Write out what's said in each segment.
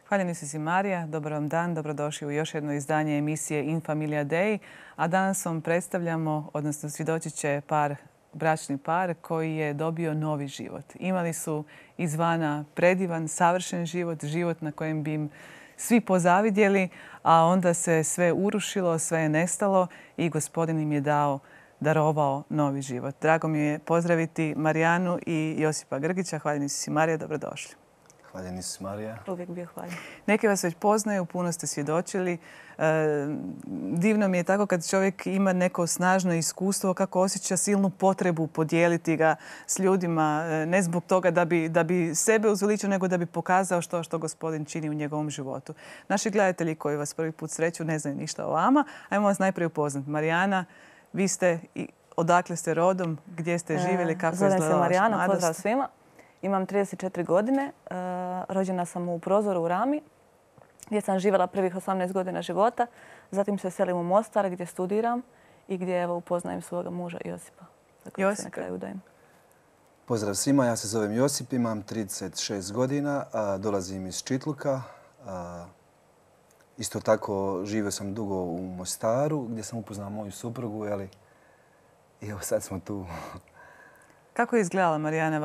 Hvaljeni si Marija, dobar vam dan, dobrodošli u još jedno izdanje emisije In Familia Dei. A danas vam predstavljamo, odnosno svjedočit će bračni par koji je dobio novi život. Imali su izvana predivan, savršen život, život na kojem bi im svi pozavidjeli, a onda se sve urušilo, sve je nestalo i Gospodin im je darovao novi život. Drago mi je pozdraviti Marijanu i Josipa Grgića. Hvaljeni si Marija, dobrodošli. Hvaljeni si Marija. Uvijek bio hvaljen. Neki vas već poznaju, puno ste svjedočili. Divno mi je tako kad čovjek ima neko snažno iskustvo, kako osjeća silnu potrebu podijeliti ga s ljudima. Ne zbog toga da bi sebe uzveličio, nego da bi pokazao što Gospodin čini u njegovom životu. Naši gledatelji koji vas prvi put sreću ne znaju ništa o vama. Ajmo vas najprije upoznati. Marijana, vi ste, odakle ste rodom, gdje ste živjeli, kako je izgledala vaša mladost? Zovem se Marijana, pozdrav svima. Imam 34 godine, rođena sam u Prozoru u Rami, gdje sam živjela prvih 18 godina života. Zatim se selim u Mostar gdje studiram i gdje upoznajem svoga muža Josipa. Josipe. Na kraju udajem. Pozdrav svima, ja se zovem Josip, imam 36 godina, dolazim iz Čitluka. Isto tako živio sam dugo u Mostaru gdje sam upoznao moju suprugu i evo sad smo tu. Kako je izgledala, Marijana,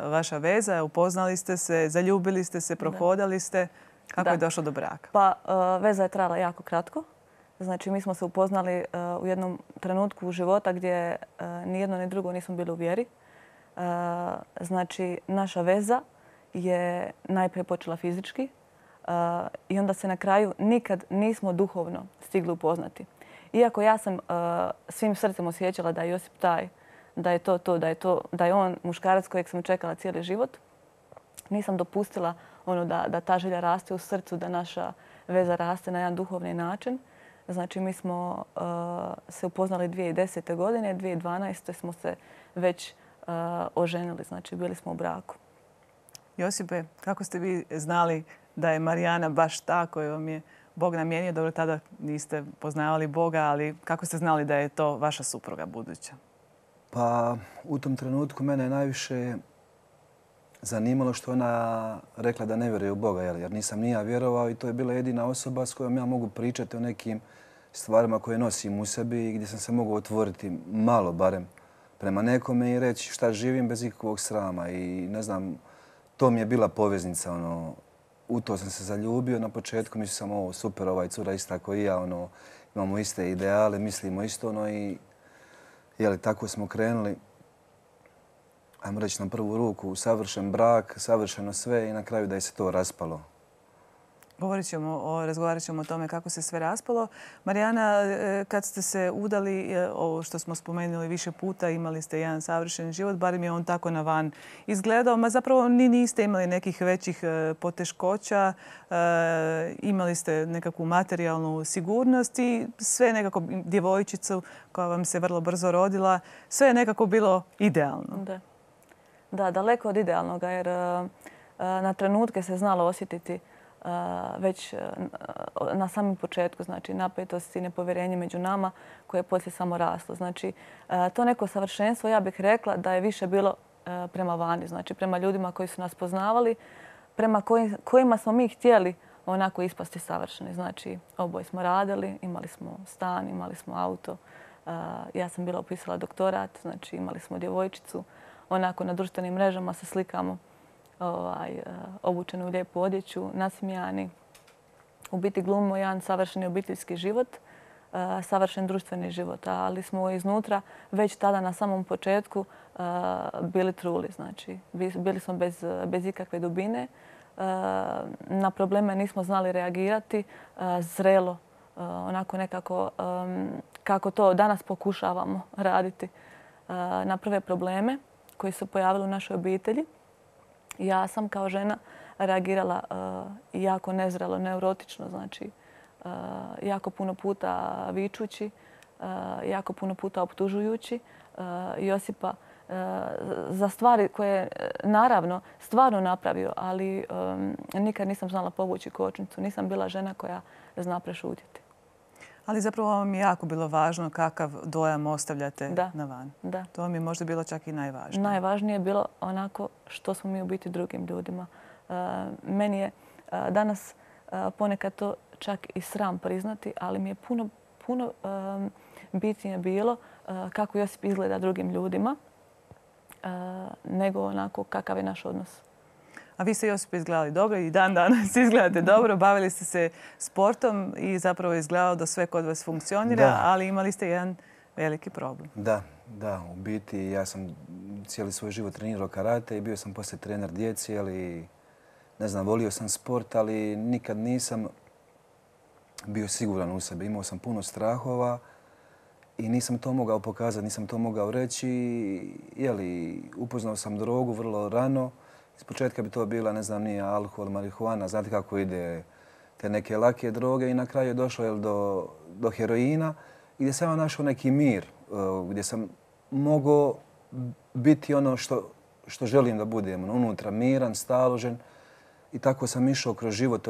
vaša veza? Upoznali ste se, zaljubili ste se, prohodali ste. Kako je došlo do braka? Pa veza je trajala jako kratko. Znači mi smo se upoznali u jednom trenutku života gdje ni jedno ni drugo nismo bili u vjeri. Znači naša veza je najprije počela fizički i onda se na kraju nikad nismo duhovno stigli upoznati. Iako ja sam svim srcem osjećala da je Josip taj, da je da je on muškarac kojeg sam čekala cijeli život. Nisam dopustila da ta želja raste u srcu, da naša veza raste na jedan duhovni način. Znači mi smo se upoznali 2010. godine, 2012. smo se već oženili, znači bili smo u braku. Josipe, kako ste vi znali da je Marijana baš ta koju vam je Bog namijenio? Dobro, tada niste poznavali Boga, ali kako ste znali da je to vaša supruga buduća? Pa u tom trenutku mene je najviše zanimalo što ona rekla da ne vjeruje u Boga, jer nisam ni ja vjerovao i to je bila jedina osoba s kojom ja mogu pričati o nekim stvarima koje nosim u sebi i gdje sam se mogao otvoriti malo barem prema nekome i reći šta živim bez ikakvog srama. I ne znam, to mi je bila poveznica. U to sam se zaljubio. Na početku mislio sam ovo super, ovaj cura ista kao i ja, imamo iste ideale, mislimo isto i tako smo krenuli, ajmo reći na prvu ruku, savršen brak, savršeno sve i na kraju da je se to raspalo. Razgovarat ćemo o tome kako se sve raspalo. Marijana, kad ste se udali, ovo što smo spomenuli više puta, imali ste jedan savršen život, barem je on tako na van izgledao, ma zapravo ni niste imali nekih većih poteškoća, imali ste nekakvu materijalnu sigurnost i sve nekako djevojčicu koja vam se vrlo brzo rodila, sve je nekako bilo idealno. Da, daleko od idealnoga jer na trenutke se znalo osjetiti već na samom početku, znači napetost i nepovjerenje među nama koje je poslije samo raslo. Znači to neko savršenstvo, ja bih rekla da je više bilo prema vani, znači prema ljudima koji su nas poznavali, prema kojima smo mi htjeli onako ispasti savršeni. Znači oboje smo radili, imali smo stan, imali smo auto, ja sam bila upisala doktorat, znači imali smo djevojčicu, onako na društvenim mrežama se slikamo obučeni u lijepu odjeću, nasmijani. U biti glumimo jedan savršeni obiteljski život, savršen društveni život, ali smo iznutra već tada na samom početku bili truli. Znači, bili smo bez ikakve dubine. Na probleme nismo znali reagirati zrelo, onako nekako kako to danas pokušavamo raditi na prve probleme koji su pojavili u našoj obitelji. Ja sam kao žena reagirala jako nezrelo, neurotično, znači jako puno puta vičući, jako puno puta optužujući Josipa za stvari koje naravno stvarno napravio, ali nikad nisam znala povući kočnicu. Nisam bila žena koja zna prešutjeti. Ali zapravo vam je jako bilo važno kakav dojam ostavljate na van. Da. To vam je možda bilo čak i najvažnije. Najvažnije je bilo onako što smo mi u biti drugim ljudima. Meni je danas ponekad to čak i sram priznati, ali mi je puno bitnije bilo kako Josip izgleda drugim ljudima nego onako kakav je naš odnos. A vi ste, Josip, izgledali dobro i dan danas izgledate dobro. Bavili ste se sportom i zapravo je izgledalo da sve kod vas funkcionira, ali imali ste jedan veliki problem. Da, u biti ja sam cijeli svoj život trenirao karate i bio sam poslije trener djeci, ali ne znam, volio sam sport, ali nikad nisam bio siguran u sebi. Imao sam puno strahova i nisam to mogao pokazati, nisam to mogao reći. Upoznao sam drogu vrlo rano. Iz početka bi to bila, ne znam, nije alkohol, marihuana, znate kako ide te neke lake droge i na kraju je došlo do heroina gdje sam našao neki mir, gdje sam mogao biti ono što želim da budem, unutra miran, staložen. I tako sam išao kroz život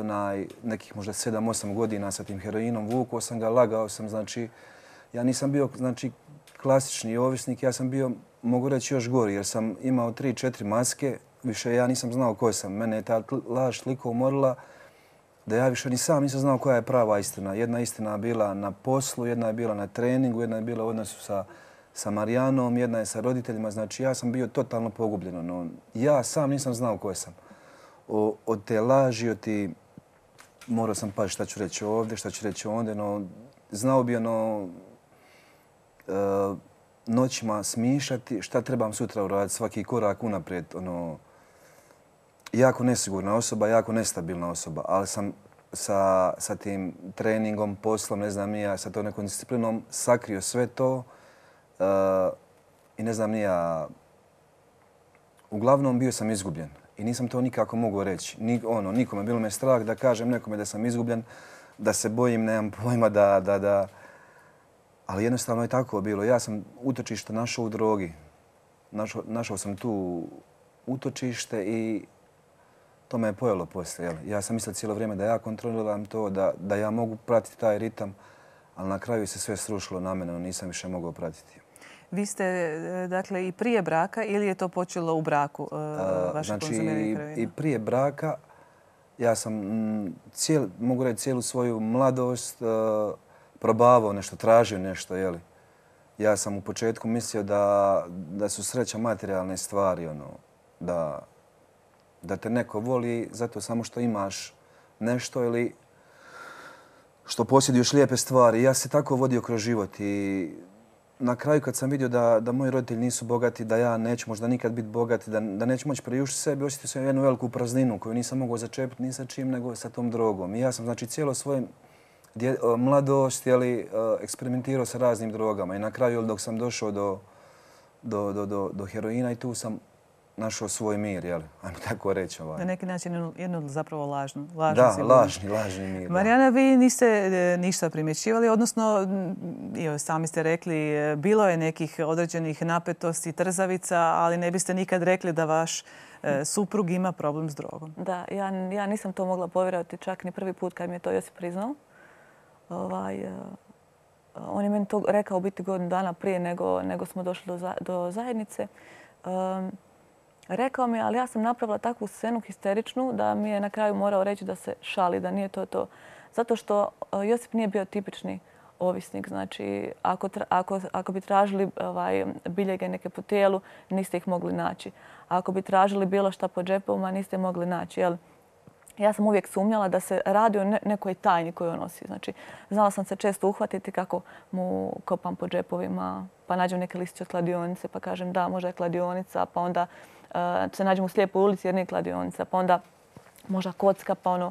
nekih možda 7-8 godina sa tim heroinom. Vukao sam ga, lagao sam, znači ja nisam bio klasični ovisnik, ja sam bio, mogu reći, još gori jer sam imao 3-4 maske. Više ja nisam znao ko sam. Mene je ta laž toliko umorila da ja više ni sam nisam znao koja je prava istina. Jedna istina je bila na poslu, jedna je bila na treningu, jedna je bila u odnosu sa Marijanom, jedna je sa roditeljima. Znači ja sam bio totalno pogubljen. Ja sam nisam znao ko sam. Od te laži, morao sam pa šta ću reći ovdje, šta ću reći ondje. Znao bi noćima smišljati šta trebam sutra uraditi, svaki korak unaprijed. Jako nesigurna osoba, jako nestabilna osoba, ali sam sa tim treningom, poslom, ne znam ja, sa to nekom disciplinom sakrio sve to i ne znam ja, uglavnom bio sam izgubljen i nisam to nikako mogao reći. Nikome, bilo me strah da kažem nekome da sam izgubljen, da se bojim, nemam pojma da... Ali jednostavno je tako bilo. Ja sam utočište našao u drogi. Našao sam tu utočište i to me je pojelo poslije. Ja sam mislio cijelo vrijeme da ja kontroliram to, da ja mogu pratiti taj ritam, ali na kraju se sve srušilo na mene, nisam više mogao pratiti. Vi ste, dakle, i prije braka ili je to počelo u braku, vaše konzumiranje heroina? I prije braka ja sam, mogu reći, cijelu svoju mladost probavao nešto, tražio nešto. Ja sam u početku mislio da su sreća materijalne stvari, da te neko voli zato samo što imaš nešto ili što posjeduješ lijepe stvari. Ja se tako vodio kroz život i na kraju kad sam vidio da moji roditelji nisu bogati, da ja neću možda nikad biti bogat, da neću moći priuštiti sebi, osjetio sam jednu veliku prazninu koju nisam mogao začepiti ni sa čim nego sa tom drogom. I ja sam cijelo svoje mladost eksperimentirao sa raznim drogama i na kraju dok sam došao do heroina i tu sam našao svoj mir, ajmo tako reći. Na neki način jednu zapravo lažnu lažni mir. Marijana, vi niste ništa primjećivali, odnosno, sami ste rekli, bilo je nekih određenih napetosti, trzavica, ali ne biste nikad rekli da vaš suprug ima problem s drogom. Da, ja nisam to mogla povjerovati čak ni prvi put kad mi je to Josip priznao. On je meni to rekao u biti godinu dana prije nego smo došli do zajednice. Rekao mi je, ali ja sam napravila takvu scenu histeričnu da mi je na kraju morao reći da se šali, da nije to. Zato što Josip nije bio tipični ovisnik. Znači, ako bi tražili biljege neke po tijelu, niste ih mogli naći. Ako bi tražili bilo šta po džepovima, niste mogli naći. Ja sam uvijek sumnjala da se radi o nekoj tajni koju on nosi. Znači, znala sam se često uhvatiti kako mu kopam po džepovima, pa nađem neke listiće od kladionice, pa kažem da, možda je kladionica, pa onda se nađem u slijepoj ulici jer nije kladionica, pa onda možda kocka, pa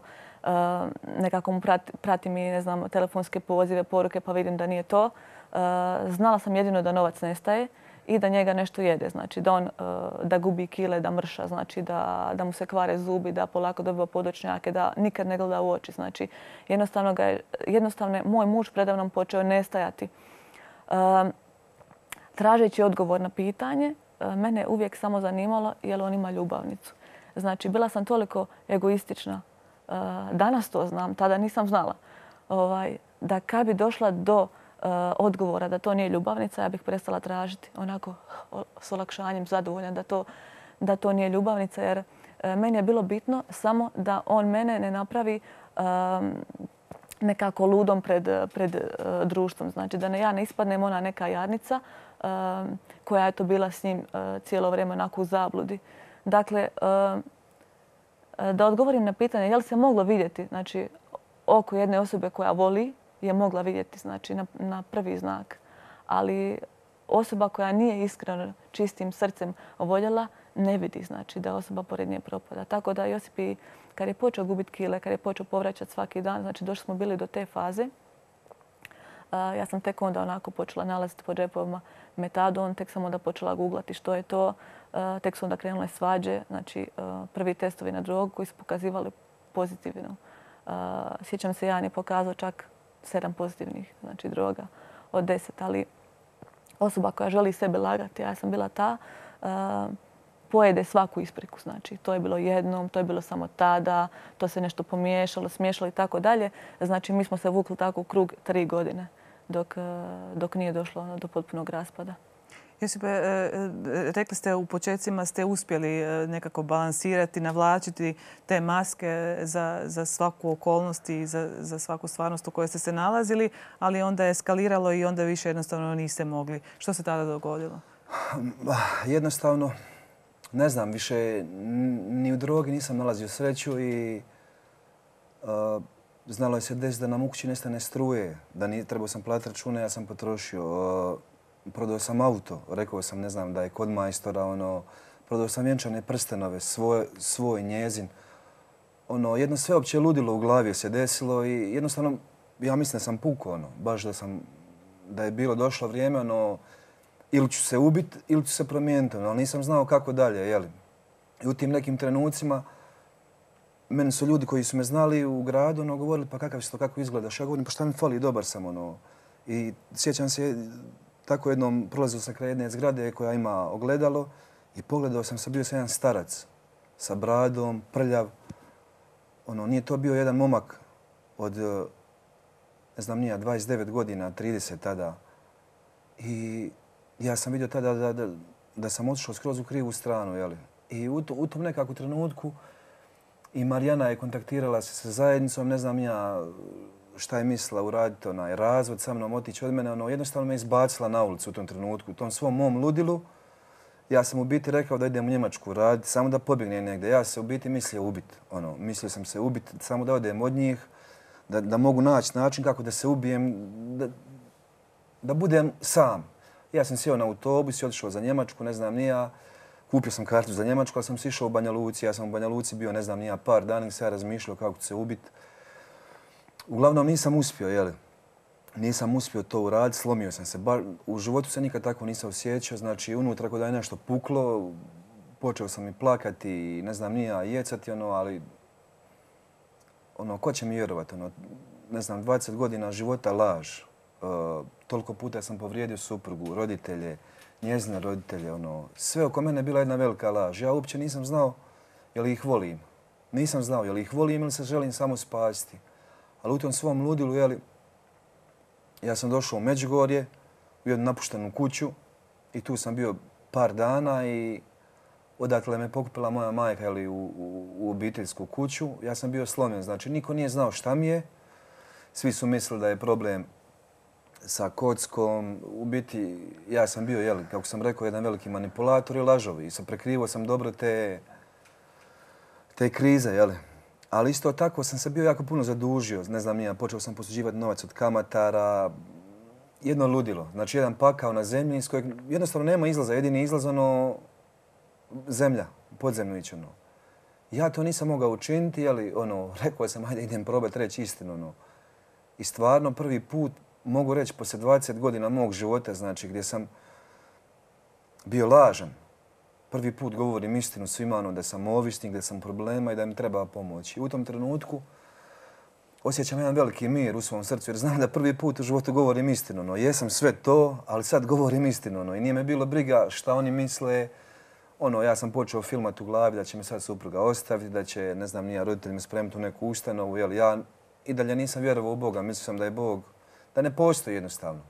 nekako mu pratim i, ne znam, telefonske pozive, poruke, pa vidim da nije to. Znala sam jedino da novac nestaje i da njega nešto jede. Znači da gubi kile, da mrša, znači da mu se kvare zubi, da polako dobiva podočnjake, da nikad ne gleda u oči. Znači jednostavno je moj muž predavnom počeo nestajati. Tražeći odgovor na pitanje, mene uvijek samo zanimalo je li on ima ljubavnicu. Znači bila sam toliko egoistična. Danas to znam, tada nisam znala. Da kad bi došla do odgovora da to nije ljubavnica, ja bih prestala tražiti onako s olakšanjem, zadovoljna da to nije ljubavnica, jer meni je bilo bitno samo da on mene ne napravi nekako ludom pred društvom. Znači da ja ne ispadnem ona neka jadnica koja je to bila s njim cijelo vrijeme onako u zabludi. Dakle, da odgovorim na pitanje je li se moglo vidjeti, znači oko jedne osobe koja voli je mogla vidjeti, znači na prvi znak. Ali osoba koja nije iskreno čistim srcem voljela ne vidi, znači da osoba pored nje propada. Tako da Josip i kad je počeo gubiti kile, kad je počeo povraćati svaki dan, znači došli smo bili do te faze. Ja sam tek onda onako počela nalaziti po džepovima metadon, tek sam onda počela googlati što je to. Tek su onda krenule svađe, znači prvi testovi na drogu koji su pokazivali pozitivno. Sjećam se, Jan je pokazao čak 7 pozitivnih, znači droga od 10, ali osoba koja želi sebe lagati, ja sam bila ta, pojede svaku ispriku. Znači, to je bilo jednom, to je bilo samo tada, to se nešto pomiješalo, smiješalo i tako dalje. Znači, mi smo se vukli tako u krug 3 godine dok nije došlo do potpunog raspada. Josipe, rekli ste u početcima ste uspjeli nekako balansirati, navlačiti te maske za svaku okolnost i za svaku stvarnost u kojoj ste se nalazili, ali onda je eskaliralo i onda više jednostavno niste mogli. Što se tada dogodilo? Jednostavno, ne znam, više ni u drogi nisam nalazio sreću i znalo je se desiti da nam u kući nestane struje, da trebao sam platiti račune, ja sam potrošio. Prodao sam auto, rekao sam, ne znam, da je kod majstora, prodao sam vjenčane prstenove, svoj, njezin. Jedno sveopće ludilo u glavi se desilo i jednostavno, ja mislim da sam pukao, baš da je bilo došlo vrijeme, ili ću se ubiti ili ću se promijeniti, ali nisam znao kako dalje, jeli. I u tim nekim trenucima meni su ljudi koji su me znali u gradu govorili pa kakav si to, kako izgledaš. Ja govorim pa šta mi fali, dobar sam. I sjećam se, tako jednom prolazio sam kraj jedne zgrade koja ima ogledalo i pogledao sam, bio sam jedan starac sa bradom, prljav. Nije to bio jedan momak od, ne znam nija, 29 godina, 30 tada. I ja sam vidio tada da sam otišao skroz u krivu stranu. Jeli? I u tom nekakvom trenutku i Marijana je kontaktirala se sa zajednicom, ne znam ja šta je mislila uraditi, razvod sa mnom, otići od mene. Jednostavno me izbacila na ulicu u tom trenutku, u tom svom mom ludilu. Ja sam u biti rekao da idem u Njemačku raditi, samo da pobjegnem negdje. Ja se u biti mislio ubiti. Mislio sam se ubiti, samo da odem od njih, da mogu naći način kako da se ubijem, da budem sam. Ja sam sjeo na autobus i otišao za Njemačku, ne znam nija. Kupio sam kartu za Njemačku, ali sam si išao u Banja Luci. Ja sam u Banja Luci bio, ne znam nija, par dana i se ja razmišljao kako ću se ubiti. Uglavnom nisam uspio, jeli. Nisam uspio to uraditi, slomio sam se. U životu se nikad tako nisam osjećao, znači unutra kada je nešto puklo, počeo sam i plakati i ne znam nija, jecati, ali ko će mi vjerovati, ne znam, 20 godina života laž. Toliko puta sam povrijedio suprugu, roditelje, njezine roditelje, sve oko mene je bila jedna velika laž. Ja uopće nisam znao je li ih volim. Nisam znao je li ih volim ili se želim samo spasiti. Ali u tom svom ludilu, jeli, ja sam došao u Međugorje, u jednu napuštenu kuću i tu sam bio par dana i odakle me pokupila moja majka, jeli, u obiteljsku kuću. Ja sam bio slomljen, znači niko nije znao šta mi je. Svi su mislili da je problem sa kockom. U biti, ja sam bio, jeli, kako sam rekao, jedan veliki manipulator i lažovi. I prekrivao sam dobro te krize, jeli. Ali isto tako sam se bio jako puno zadužio. Ne znam nija, počeo sam posuđivati novac od kamatara. Jedno ludilo. Znači jedan pakao na zemlji iz kojeg jednostavno nema izlaza. Jedini izlaz zemlja, podzemno ići. Ja to nisam mogao učiniti, ali rekao sam ajde idem probati reći istinu. I stvarno prvi put mogu reći poslije 20 godina mog života, znači gdje sam bio lažan. Prvi put govorim istinu svima da sam ovisnik, da sam problema i da mi treba pomoći. I u tom trenutku osjećam jedan veliki mir u svom srcu jer znam da prvi put u životu govorim istinu. Jesam sve to, ali sad govorim istinu. I nije me bilo briga šta oni misle. Ja sam počeo filmat u glavi da će me sad supruga ostaviti, da će, ne znam, nija roditelj me spremiti u neku ustanovu. Ja i dalje nisam vjerovao u Boga. Mislio sam da je Bog, da ne postoji jednostavno.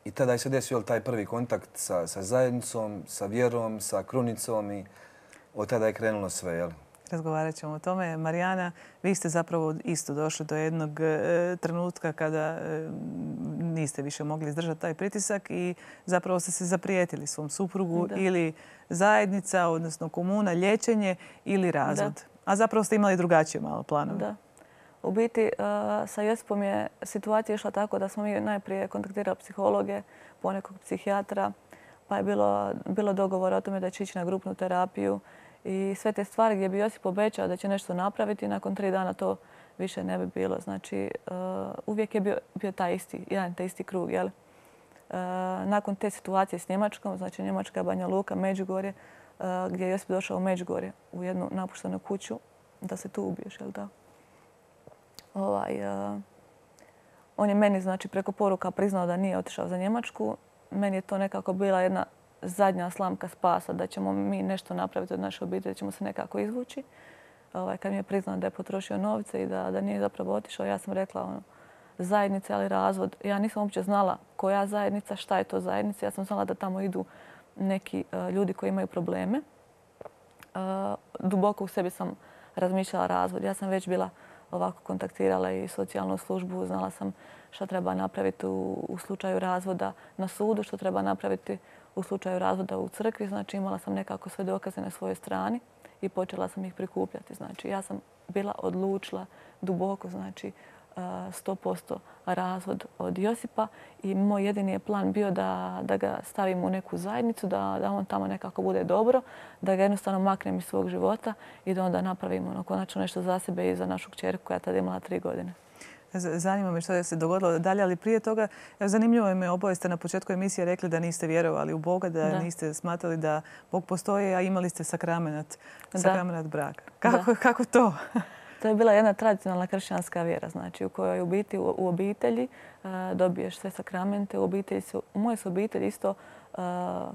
I tada je se desio taj prvi kontakt sa zajednicom, sa vjerom, sa krunicom i od tada je krenulo sve. Jel? Razgovarat ćemo o tome. Marijana, vi ste zapravo isto došli do jednog trenutka kada niste više mogli izdržati taj pritisak i zapravo ste se zaprijetili svom suprugu ili zajednica, odnosno komuna, liječenje ili razvod. A zapravo ste imali drugačije malo planove. Da. U biti, sa Josipom je situacija išla tako da smo mi najprije kontaktirali psihologe, ponekog psihijatra, pa je bilo dogovora o tome da će ići na grupnu terapiju i sve te stvari gdje bi Josip obećao da će nešto napraviti, nakon 3 dana to više ne bi bilo. Znači, uvijek je bio taj isti, jedan te isti krug. Jel? Nakon te situacije s Njemačkom, znači Njemačka, Banja Luka, Međugorje, gdje je Josip došao u Međugorje u jednu napuštenu kuću da se tu ubiješ, jel da? On je meni, znači, preko poruka priznao da nije otišao za Njemačku. Meni je to nekako bila jedna zadnja slamka spasa, da ćemo mi nešto napraviti od naše obitelji, da ćemo se nekako izvući. Kad mi je priznao da je potrošio novce i da nije zapravo otišao, ja sam rekla zajednica ali razvod. Ja nisam uopće znala koja zajednica, šta je to zajednica. Ja sam znala da tamo idu neki ljudi koji imaju probleme. Duboko u sebi sam razmišljala razvod. Ja sam već bila ovako kontaktirala i socijalnu službu. Znala sam šta treba napraviti u slučaju razvoda na sudu, što treba napraviti u slučaju razvoda u crkvi. Znači, imala sam nekako sve dokaze na svojoj strani i počela sam ih prikupljati. Znači, ja sam bila odlučila duboko, znači 100% razvod od Josipa i moj jedini je plan bio da ga stavim u neku zajednicu, da on tamo nekako bude dobro, da ga jednostavno maknem iz svog života i da onda napravimo konačno nešto za sebe i za našu kćerku koja je tada imala 3 godine. Zanima me što je se dogodilo dalje, ali prije toga zanimljivo me, oboje ste na početku emisije rekli da niste vjerovali u Boga, da niste smatrali da Bog postoji, a imali ste sakramenat braka. Kako to? To je bila jedna tradicionalna kršćanska vjera, znači u kojoj u biti u obitelji dobiješ sve sakramente. U mojoj se obitelji isto,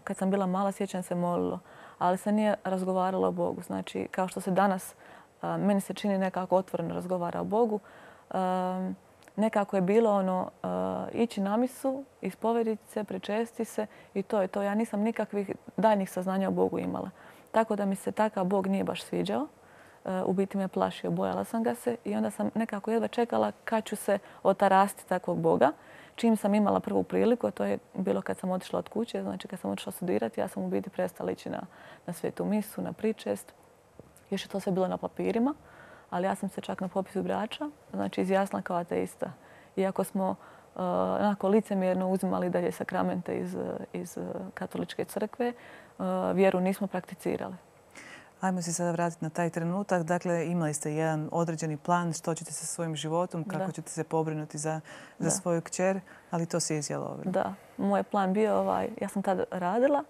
kad sam bila mala, sjećam se molilo, ali se nije razgovaralo o Bogu. Znači, kao što se danas, meni se čini nekako otvoreno razgovara o Bogu, nekako je bilo ići na misu, ispovediti se, prečesti se i to je to. Ja nisam nikakvih daljnjih saznanja o Bogu imala. Tako da mi se takav Bog nije baš sviđao. U biti me plašio, bojala sam ga se i onda sam nekako jedva čekala kad ću se otarasti takvog Boga. Čim sam imala prvu priliku, a to je bilo kad sam otišla od kuće, znači kad sam otišla studirati, ja sam u biti prestala ići na svetu misu, na pričest. Još je to sve bilo na papirima, ali ja sam se čak na popisu birača, znači izjasnila kao ateista. Iako smo onako licemjerno uzimali dalje sakramente iz katoličke crkve, vjeru nismo prakticirali. Ajmo se sada vratiti na taj trenutak. Dakle, imali ste jedan određeni plan što ćete sa svojim životom, kako ćete se pobrinuti za svoju kćer, ali to se izjalovilo. Da. Moj plan bio, ja sam tada radila,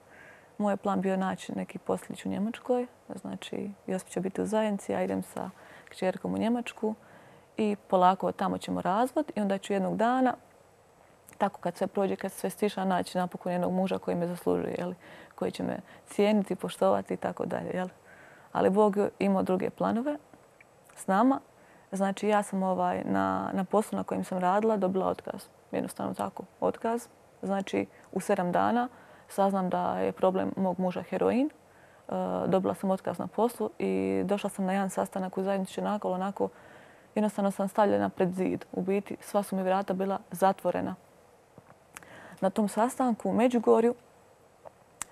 moj plan bio naći neki poslić u Njemačkoj. Znači, Josip će biti u zajednici, ja idem sa kćerkom u Njemačku i polako od tamo ćemo razvod i onda ću jednog dana, tako kad sve prođe, kad sve stiša, naći napokon jednog muža koji me zaslužuje, koji će me cijeniti, poštovati i tako dalje. Ali Bog imao druge planove s nama. Znači, ja sam na poslu na kojem sam radila dobila otkaz. Jednostavno tako, otkaz. Znači, u 7 dana saznam da je problem mog muža heroin. Dobila sam otkaz na poslu i došla sam na jedan sastanak u zajednici nakolo. Onako, jednostavno sam stavljena pred zid. U biti, sva su mi vrata bila zatvorena. Na tom sastanku u Međugorju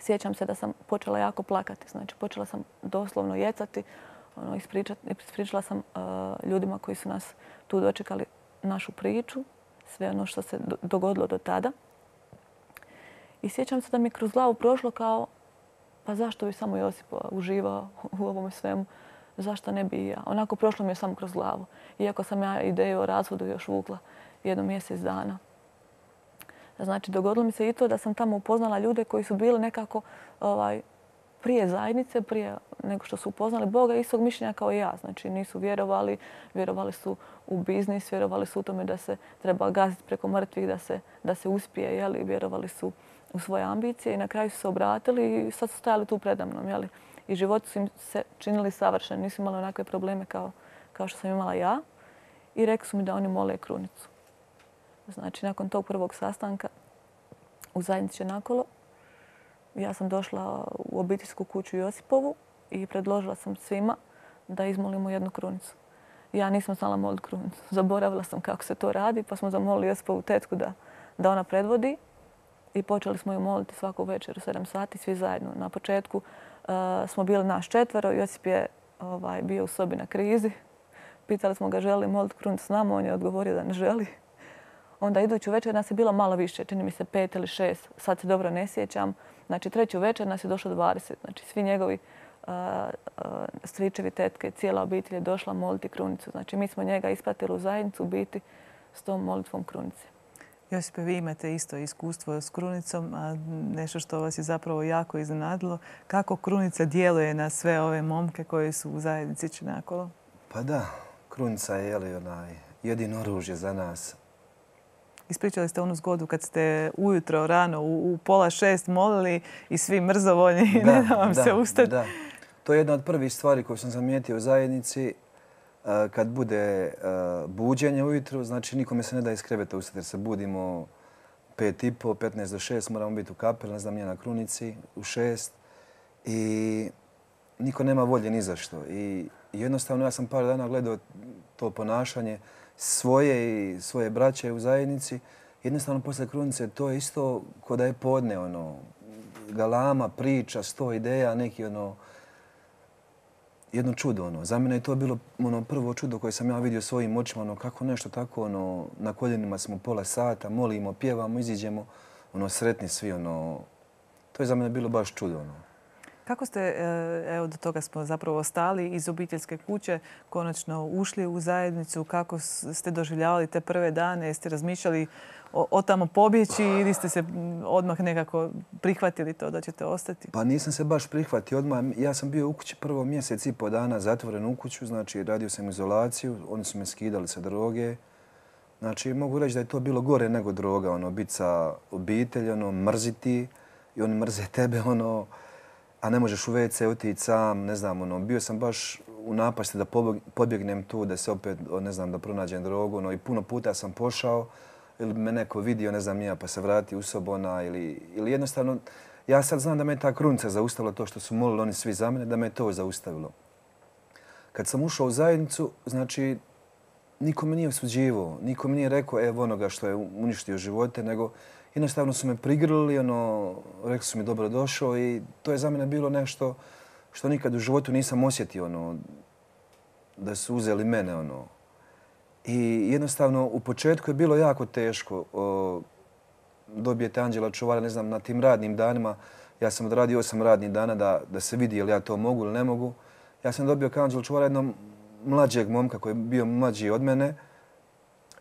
sjećam se da sam počela jako plakati. Znači, počela sam doslovno jecati. Ispričala sam ljudima koji su nas tu dočekali našu priču, sve ono što se dogodilo do tada. I sjećam se da mi je kroz glavu prošlo kao, pa zašto bi samo Josip uživao u ovome svemu? Zašto ne bi i ja? Onako prošlo mi je samo kroz glavu. Iako sam ja ideju o razvodu još vukla 1 mjesec dana. Znači, dogodilo mi se i to da sam tamo upoznala ljude koji su bili nekako prije zajednice, prije nego što su upoznali Boga, istog mišljenja kao i ja. Znači, nisu vjerovali, vjerovali su u biznis, vjerovali su u tome da se treba gaziti preko mrtvih, da se uspije, vjerovali su u svoje ambicije i na kraju su se obratili i sad su stajali tu predamnom. I životi su im se činili savršeni, nisu imali onakve probleme kao što sam imala ja i rekli su mi da oni mole krunicu. Znači, nakon tog prvog sastanka u zajednici nakolo, ja sam došla u obiteljsku kuću Josipovu i predložila sam svima da izmolimo jednu krunicu. Ja nisam znala moliti krunicu. Zaboravila sam kako se to radi, pa smo zamolili Josipovu tetku da ona predvodi. I počeli smo ju moliti svaku večer u 7 sati, svi zajedno. Na početku smo bili nas 4, Josip je bio u sobi na krizi. Pitali smo ga želi moliti krunicu s nama, on je odgovorio da ne želi. Onda iduću večer nas je bilo malo više, čini mi se 5 ili 6, sad se dobro ne sjećam. Znači treću večer nas je došlo 20, znači svi njegovi stričevi, tetke, cijela obitelj je došla moliti krunicu. Znači mi smo njega ispratili u zajednicu biti s tom molitvom krunice. Josipe, vi imate isto iskustvo s krunicom, a nešto što vas je zapravo jako iznenadilo. Kako krunica djeluje na sve ove momke koji su u zajednici Činakolo? Pa da, krunica je jedino oružje za nas. Ispričali ste onu zgodu kad ste ujutro rano u 5:30 molili i svi mrzovoljni i ne da vam se ustati. Da. To je jedna od prvih stvari koju sam zamijetio u zajednici. Kad bude buđenje ujutro, znači nikome se ne da iz kreveta ustati jer se budimo 5:30, 15 do 6, moramo biti u kapeli, ne znam nije na krunici, u 6. I niko nema volje ni za što. I jednostavno ja sam par dana gledao to ponašanje svoje i svoje braće u zajednici. Jednostavno posle krunice to je isto ko da je podne, galama, priča, 100 ideja, neki jedno čudo. Za mene je to bilo prvo čudo koje sam ja vidio svojim očima. Kako nešto tako, na koljenima smo pola sata, molimo, pjevamo, iziđemo, sretni svi. To je za mene bilo baš čudo. Kako ste, evo do toga smo zapravo stali, iz obiteljske kuće konačno ušli u zajednicu? Kako ste doživljavali te prve dane? Jeste razmišljali o tamo pobjeći ili ste se odmah nekako prihvatili to da ćete ostati? Pa nisam se baš prihvatio odmah. Ja sam bio u kući prvo 1,5 mjesec zatvoren u kuću. Znači radio sam izolaciju, oni su me skidali sa droge. Znači mogu reći da je to bilo gore nego droga. Biti sa obitelj, mrziti i oni mrze tebe, a ne možeš u WC otići sam, ne znam, bio sam baš u napasti da pobjegnem tu, da se opet, ne znam, da pronađem drogu, i puno puta sam pošao ili me neko vidio, ne znam nija, pa se vrati u sobu ili jednostavno, ja sad znam da me ta krunica zaustavila to što su molili oni svi za mene, da me to zaustavilo. Kad sam ušao u zajednicu, znači, niko me nije osuđivao, niko mi nije rekao evo onoga što je uništio živote, nego jednostavno su me prigrlili, rekli su mi dobro došao i to je za mene bilo nešto što nikad u životu nisam osjetio, da su uzeli mene. I jednostavno u početku je bilo jako teško. Dobijete anđela čuvara, ne znam, na tim radnim danima. Ja sam odradio 8 radnih dana da se vidi je li ja to mogu ili ne mogu. Ja sam dobio kao anđela čuvara jednog mlađeg momka koji je bio mlađi od mene.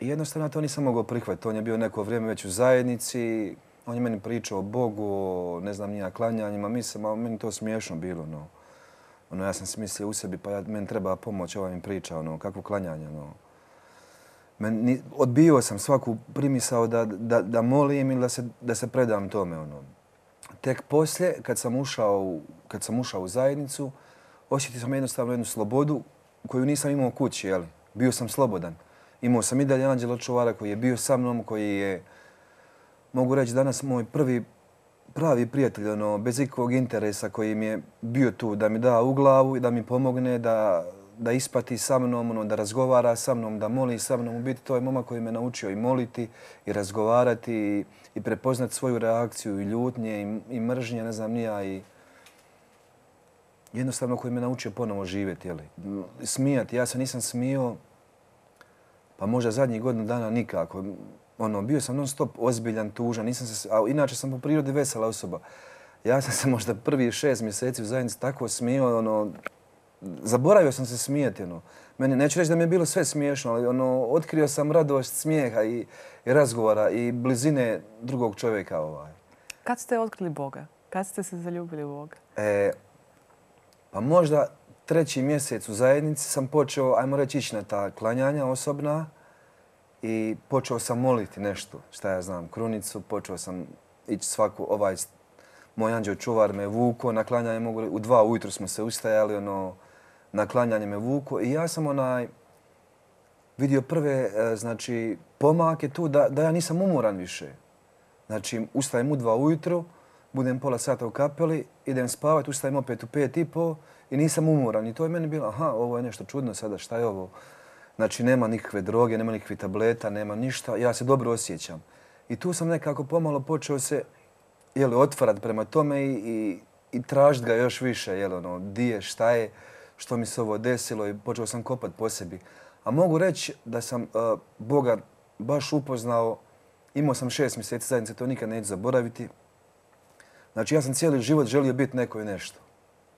I jednostavno to nisam mogao prihvatiti. On je bio neko vrijeme već u zajednici. On je meni pričao o Bogu, o ne znam nija klanjanjima. Meni to smiješno bilo. Ja sam si mislio u sebi pa meni treba pomoć, ova mi priča, kakvo klanjanje. Odbio sam svaku primisao da molim ili da se predam tome. Tek poslije, kad sam ušao u zajednicu, osjetio sam jednostavno jednu slobodu koju nisam imao u kući. Bio sam slobodan. Imao sam i dalje anđela čuvara koji je bio sa mnom, koji je, mogu reći, danas moj prvi pravi prijatelj, bez ikakvog interesa, koji mi je bio tu da mi da u glavu i da mi pomogne, da ispati sa mnom, da razgovara sa mnom, da moli sa mnom. U biti to je momak koji me naučio i moliti i razgovarati i prepoznati svoju reakciju i ljutnje i mržnje, ne znam nija, i jednostavno koji me naučio ponovo živjeti. Smijati. Ja se nisam smio pa možda zadnjih godinu dana nikako. Bio sam non stop ozbiljan, tužan, a inače sam po prirodi vesela osoba. Ja sam se možda prvih 6 mjeseci u zajednici tako smio, zaboravio sam se smijeti. Meni, neću reći da mi je bilo sve smiješno, ali otkrio sam radost smijeha i razgovora i blizine drugog čovjeka. Kad ste otkrili Boga? Kad ste se zaljubili u Boga? Pa možda 3. mjesec u zajednici sam počeo, ajmo reći, ići na ta klanjanja osobna i počeo sam moliti nešto, šta ja znam, krunicu, počeo sam ići svaku, moj anđeo čuvar me vuko, na klanjanje u 2 ujutro smo se ustajali, na klanjanje me vuko i ja sam vidio prve, znači, pomake tu da ja nisam umoran više. Znači, ustajem u 2 ujutro budem pola sata u kapeli, idem spavati, ustajem opet u 5:30 i nisam umoran. I to je meni bilo, aha, ovo je nešto čudno sada, šta je ovo? Znači, nema nikakve droge, nema nikakvih tableta, nema ništa. Ja se dobro osjećam. I tu sam nekako pomalo počeo se otvarati prema tome i tražiti ga još više. Di je, šta je, što mi se ovo desilo i počeo sam kopati po sebi. A mogu reći da sam Boga baš upoznao. Imao sam 6 mjeseci zajednice, to nikad neću zaboraviti. Znači, ja sam cijeli život želio biti neko i nešto.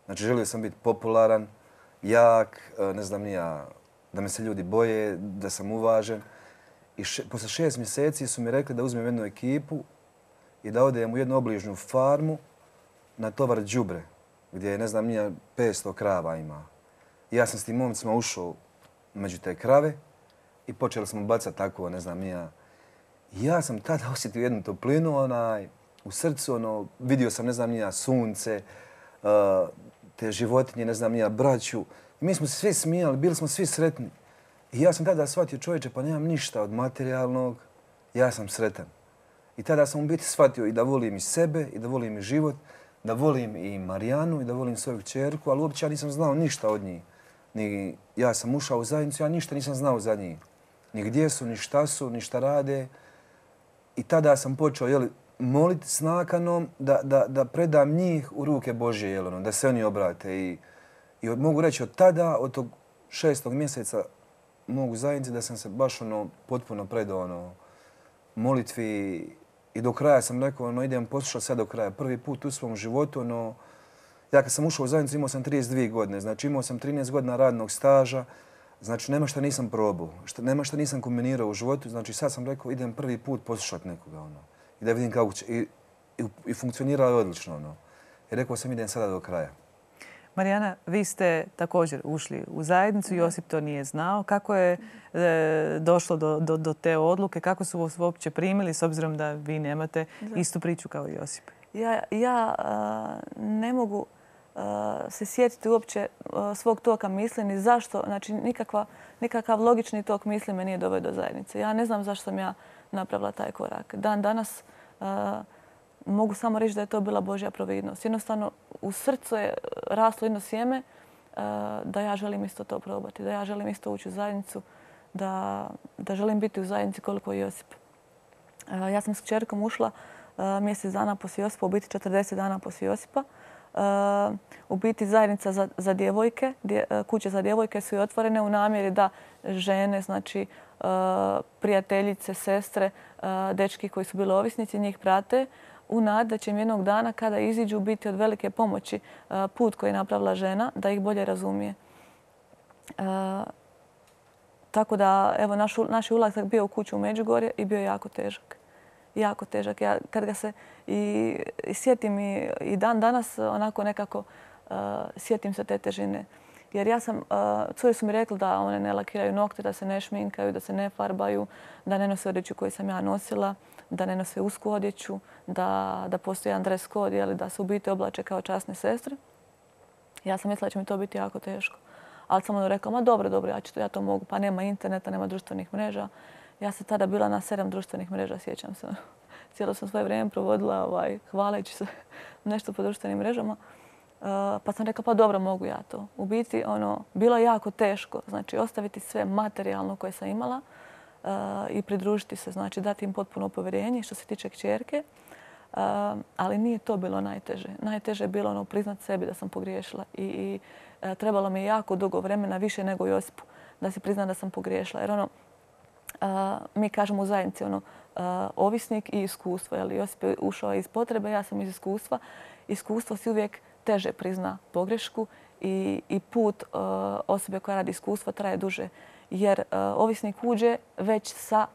Znači, želio sam biti popularan, jak, ne znam ni ja, da me se ljudi boje, da sam uvažen. I posle 6 mjeseci su mi rekli da uzmem jednu ekipu i da odem u jednu obližnju farmu na tovar đubre, gdje je, ne znam, nije 500 krava ima. I ja sam s tim momcima ušao među te krave i počeli smo bacati tako, ne znam, nije. Ja sam tada osjetio jednu toplinu u srcu, vidio sam, ne znam, nije sunce, te životinje, ne znam, nije braću. I mi smo se svi smijali, bili smo svi sretni. I ja sam tada shvatio, čovječe, pa nemam ništa od materijalnog, ja sam sretan. I tada sam u biti shvatio i da volim i sebe, i da volim i život, da volim i Marijanu, i da volim svoju kćerku, ali uopće ja nisam znao ništa od njih. Ni ja sam ušao u zajednicu, ja ništa nisam znao za njih. Ni gdje su, ni šta su, ni šta rade. I tada sam počeo moliti s nakanom da predam njih u ruke Božje, da se oni obrate. I mogu reći od tada, od tog 6. mjeseca mogu zajednici, da sam se baš potpuno predao molitvi i do kraja sam rekao, idem poslušati sad do kraja. Prvi put u svom životu, ja kad sam ušao u zajednicu imao sam 32 godine, znači imao sam 13 godina radnog staža, znači nema šta nisam probao, nema šta nisam kombinirao u životu, znači sad sam rekao idem prvi put poslušati nekoga i da vidim kako će. I funkcioniralo je odlično. I rekao sam idem sada do kraja. Marijana, vi ste također ušli u zajednicu, Josip to nije znao. Kako je došlo do te odluke? Kako su vas uopće primili s obzirom da vi nemate istu priču kao i Josip? Ja ne mogu se sjetiti uopće svog toka misli ni zašto. Znači, nikakav logični tok misli me nije doveo do zajednice. Ja ne znam zašto sam ja napravila taj korak. Dan danas mogu samo reći da je to bila Božja providnost. Jednostavno, u srcu je raslo jedno sjeme da ja želim isto to probati, da ja želim isto ući u zajednicu, da želim biti u zajednici koliko je Josip. Ja sam s kćerkom ušla mjesec dana poslije Josipa, u biti 40 dana poslije Josipa. U biti zajednica za djevojke, kuće za djevojke su i otvorene u namjeri da žene, znači prijateljice, sestre, dečki koji su bili ovisnici, njih prate u nadi da će im jednog dana kada iziđu biti od velike pomoći put koji je napravila žena, da ih bolje razumije. Tako da, evo, naš ulazak bio u kuću u Međugorje i bio je jako težak. Jako težak. Ja kad ga se i sjetim i dan danas onako nekako sjetim se te težine. Jer ja sam, cure su mi rekli da one ne lakiraju nokte, da se ne šminkaju, da se ne farbaju, da ne nose odjeću koju sam ja nosila, da ne nose usku odjeću, da postoji jedan dress code, da se u biti oblače kao časne sestre. Ja sam mislila da će mi to biti jako teško. Ali sam ono rekla, ma dobro, ja to mogu. Pa nema interneta, nema društvenih mreža. Ja sam tada bila na 7 društvenih mreža, sjećam se. Cijelo sam svoje vrijeme provodila hvaleći se nešto po društvenim mrežama. Pa sam rekla, pa dobro, mogu ja to. U biti, bilo je jako teško. Znači, ostaviti sve materijalno koje sam imala i pridružiti se, znači dati im potpuno povjerenje što se tiče kćerke. Ali nije to bilo najteže. Najteže je bilo priznat sebi da sam pogriješila i trebalo mi je jako dugo vremena, više nego Josipu, da se priznam da sam pogriješila. Jer mi kažemo u zajednici ovisnik i iskustvo. Josip je ušao iz potrebe, ja sam iz iskustva. Iskustvo si uvijek teže prizna pogrešku i put osobe koja radi iskustva traje duže. Jer ovisnik uđe već sa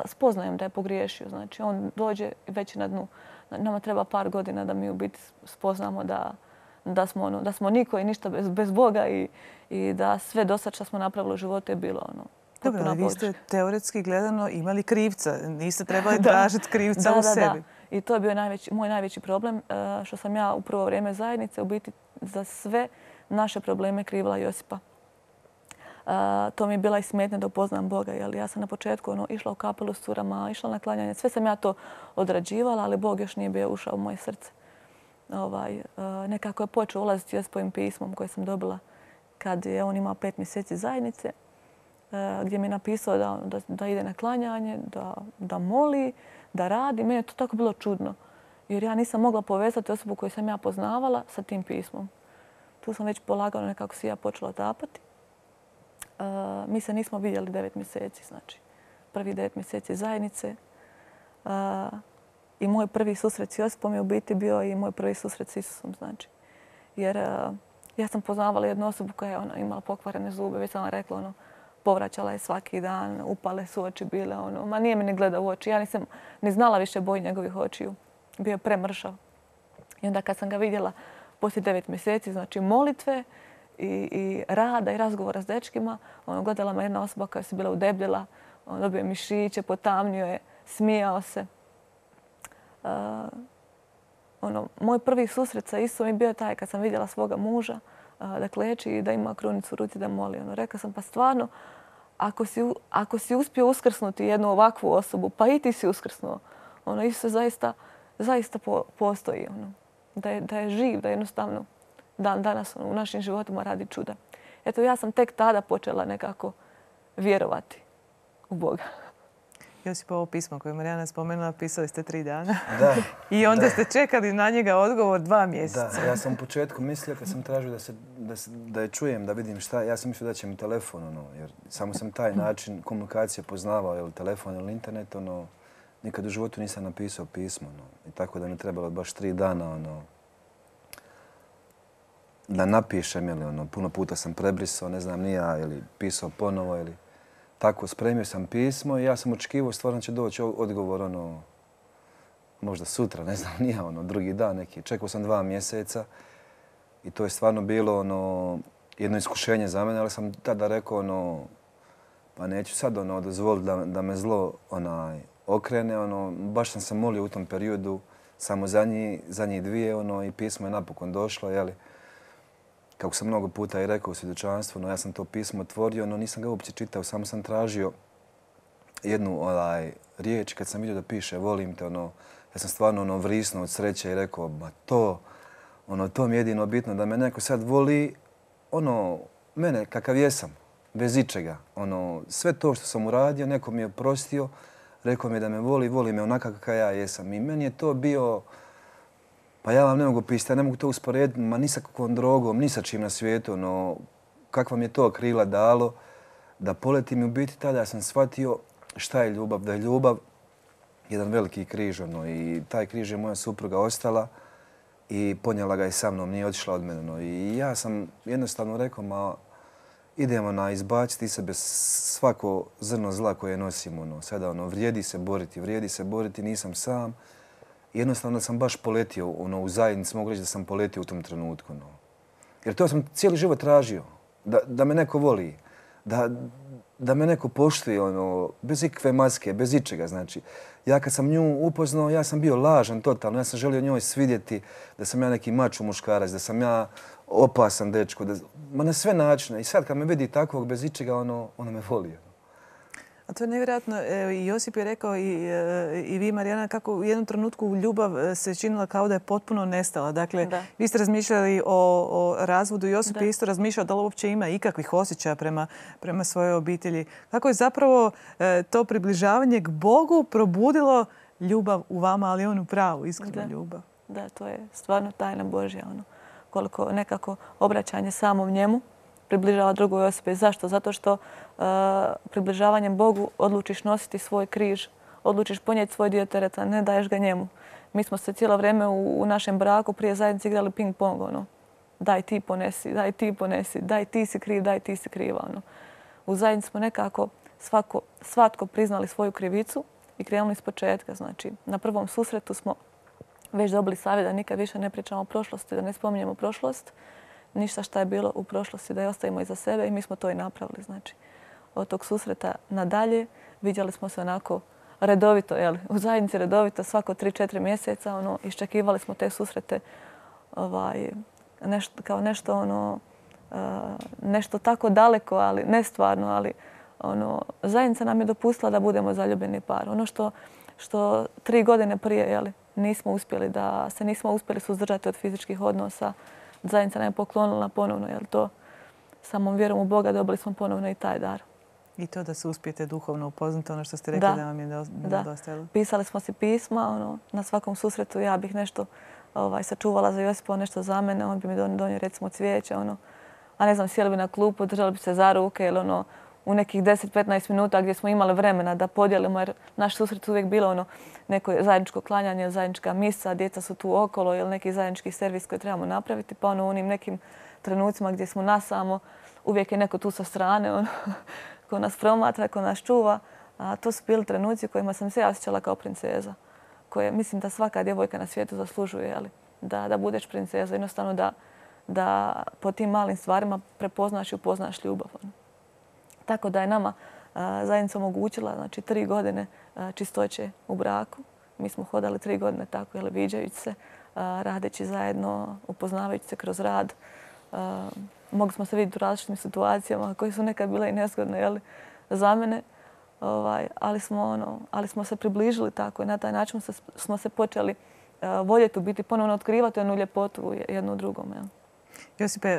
spoznajem da je pogriješio. Znači, on dođe već na dnu. Nama treba par godina da mi u biti spoznamo da smo niko i ništa bez Boga i da sve do sad što smo napravili u životu je bilo Dobro, vi ste teoretski gledano imali krivca. Niste trebali tražiti krivca u sebi. Da. I to je bio moj najveći problem, što sam ja u prvo vrijeme zajednice u biti za sve naše probleme krivila Josipa. to mi je bila i smetnja da upoznam Boga. Jer ja sam na početku išla u kapelu s curama, išla na klanjanje. Sve sam ja to odrađivala, ali Bog još nije bio ušao u moje srce. Nekako je počeo ulaziti Jospovim pismom koje sam dobila kad je on imao 5 mjeseci zajednice, gdje mi je napisao da ide na klanjanje, da moli, da radi. Meni je to tako bilo čudno. Jer ja nisam mogla povezati osobu koju sam ja poznavala sa tim pismom. Tu sam već polagano nekako si ja počela otapati. Mi se nismo vidjeli 9 mjeseci, znači. Prvi 9 mjeseci zajednice. I moj prvi susret s Josipom je u biti bio i moj prvi susret s Isusom, znači. Jer ja sam poznavala jednu osobu koja je imala pokvarene zube, već sam vam rekla, povraćala je svaki dan, upale su oči bile, ma nije mi ni gledao u oči. Ja nisam ni znala više boju njegovih očiju. Bio je premršav. I onda kad sam ga vidjela poslije 9 mjeseci, znači molitve i rada i razgovora s dečkima, gledala me jedna osoba koja se bila udebljela, dobio je mišiće, potamnio je, smijao se. Moj prvi susret sa Isusom je bio taj kad sam vidjela svoga muža da kleči i da ima krunicu u ruci da moli. Rekla sam, pa stvarno, ako si uspio uskrsnuti jednu ovakvu osobu, pa i ti si uskrsnuo. Isus zaista postoji. Da je živ, da jednostavno danas u našim životima radi čuda. Eto, ja sam tek tada počela nekako vjerovati u Boga. Josip, ovo pismo koje je Marijana spomenula, pisali ste 3 dana. Da. I onda ste čekali na njega odgovor 2 mjeseca. Da, ja sam u početku mislio kad sam tražio da je čujem, da vidim šta, ja sam mislio da će mi telefon, jer samo sam taj način komunikacije poznavao, ili telefon ili internet, nikad u životu nisam napisao pismo. I tako da mi trebalo baš 3 dana da napišem, ili puno puta sam prebrisao, ne znam ni ja, ili pisao ponovo, ili tako, spremio sam pismo i ja sam očekivao stvarno će doći odgovor, možda sutra, ne znam, nije drugi dan neki. Čekao sam 2 mjeseca i to je stvarno bilo jedno iskušenje za mene, ali sam tada rekao, pa neću sad dozvoliti da me zlo okrene. Baš sam se molio u tom periodu, samo za njih 2 i pismo je napokon došlo, jeli. Kako sam mnogo puta i rekao u svjedočanstvu, ja sam to pismo otvorio, nisam ga uopće čitao, samo sam tražio jednu riječ. Kad sam vidio da piše volim te, ja sam stvarno vrisnuo od sreće i rekao, to mi je jedino bitno, da me neko sad voli, mene kakav jesam, bez ičega. Sve to što sam uradio, neko mi je oprostio, rekao mi je da me voli me onaka kakav ja jesam. I meni je to bio, pa ja vam ne mogu pisati, ja ne mogu to usporediti, ni sa kakvom drogom, ni sa čim na svijetu, kakva mi je to krila dalo da poletim. I u biti tada sam shvatio šta je ljubav, da je ljubav jedan veliki križ, i taj križ je moja supruga ostala i ponijela ga i sa mnom, nije otišla od mene. I ja sam jednostavno rekao, idemo izbaciti iz sebe svako zrno zla koje nosimo. Sada vrijedi se boriti, nisam sam. Jednostavno sam baš poletio u zajednici, mogu reći da sam poletio u tom trenutku. Jer to sam cijeli život tražio, da me neko voli, da me neko poštuje, bez ikakve maske, bez ičega. Znači, ja kad sam nju upoznao, ja sam bio lažan totalno, ja sam želio njoj svidjeti da sam ja neki mačo muškarac, da sam ja opasan dečko, na sve načine. I sad kad me vidi takvog bez ičega, ona me voli. A to je nevjerojatno. I Josip je rekao i vi, Marijana, kako u jednom trenutku ljubav se činila kao da je potpuno nestala. Dakle, vi ste razmišljali o razvodu. Josip je isto razmišljao da li uopće ima ikakvih osjećaja prema svojoj obitelji. Kako je zapravo to približavanje k Bogu probudilo ljubav u vama, ali onu pravu, iskrenu ljubav. Da, to je stvarno tajna Božja. Koliko nekako obraćanje samom njemu približava drugoj osobi. Zašto? Zato što približavanjem Bogu odlučiš nositi svoj križ, odlučiš ponijeti svoj dio tereta, ne daješ ga njemu. Mi smo se cijelo vrijeme u našem braku prije zajednice igrali ping-pong. Daj ti ponesi, daj ti ponesi, daj ti si kriv, daj ti si kriva. U zajednici smo nekako svatko priznali svoju krivicu i krenuli iz početka. Znači, na prvom susretu smo već dobili savjet da nikad više ne pričamo o prošlosti, da ne spominjemo prošlost. Ništa šta je bilo u prošlosti da je ostavimo iza sebe i mi smo to i napravili. Znači, od tog susreta nadalje vidjeli smo se onako redovito, u zajednici redovito svako 3-4 mjeseca. Iščekivali smo te susrete kao nešto nešto tako daleko, ali nestvarno, ali zajednica nam je dopustila da budemo zaljubljeni par. Ono što 3 godine prije nismo uspjeli, da se nismo uspjeli suzdržati od fizičkih odnosa, zajednica nam je poklonila ponovno, to samom vjerom u Boga dobili smo ponovno i taj dar. I to da se uspijete duhovno upoznati, ono što ste rekli da vam je nedostajalo. Pisali smo si pisma, na svakom susretu ja bih nešto sačuvala za Josipa, nešto za mene, on bi mi donio recimo cvijeće, a ne znam, sjeli bi na klupu, držali bi se za ruke ili u nekih 10-15 minuta gdje smo imali vremena da podijelimo, jer naš susret uvijek bilo neko zajedničko klanjanje, zajednička misa, djeca su tu okolo ili neki zajednički servis koji trebamo napraviti, pa u onim nekim trenucima gdje smo nasamo, uvijek je neko tu sa strane ko nas promatra, ko nas čuva. A to su bili trenuci u kojima sam se osjećala kao princeza, koje mislim da svaka djevojka na svijetu zaslužuje, da budeš princeza, jednostavno da po tim malim stvarima prepoznaš i upoznaš ljubav. Tako da je nama zajednica omogućila 3 godine čistoće u braku. Mi smo hodali 3 godine tako, viđajući se, radeći zajedno, upoznavajući se kroz rad. Mogli smo se vidjeti u različitim situacijama koje su nekad bile i nezgodne za mene, ali smo se približili tako i na taj način smo se počeli voljeti u biti, ponovno otkrivati onu ljepotu jednu u drugom. Josipe,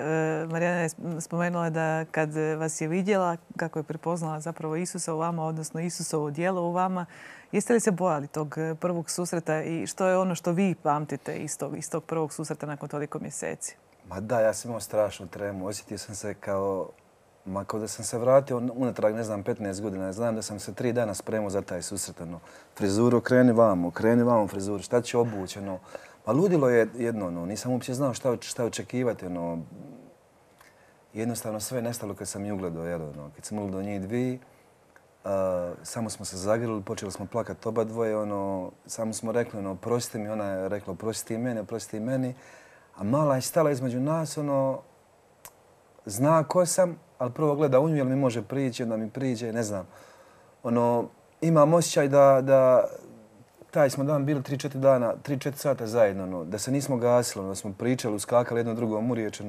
Marijana je spomenula da kad vas je vidjela, kako je prepoznala zapravo Isusa u vama, odnosno Isusovo djelo u vama, jeste li se bojali tog prvog susreta i što je ono što vi pamtite iz tog prvog susreta nakon toliko mjeseci? Ma da, ja sam imao strašnu tremu. Osjetio sam se kao da sam se vratio unatrag, 15 godina. Znam da sam se 3 dana spremao za taj susret. Frizuru, kreni vamo frizuru, šta ću obući. Pa ludilo je jedno, nisam uopće znao šta očekivati. Jednostavno sve je nestalo kad sam ju ugledao. Kad sam ugledao njih dvije, samo smo se zagrlili, počeli smo plakati oba dvoje. Samo smo rekli, oprosti mi, ona je rekla, oprosti meni. A mala je stala između nas, zna ko sam, ali prvo gleda u nju, jel mi može prići, onda mi priđe, ne znam. Imam osjećaj da taj smo dan bili 3-4 dana, 3-4 sata zajedno, da se nismo gasili, da smo pričali, uskakali jedno drugom u riječ.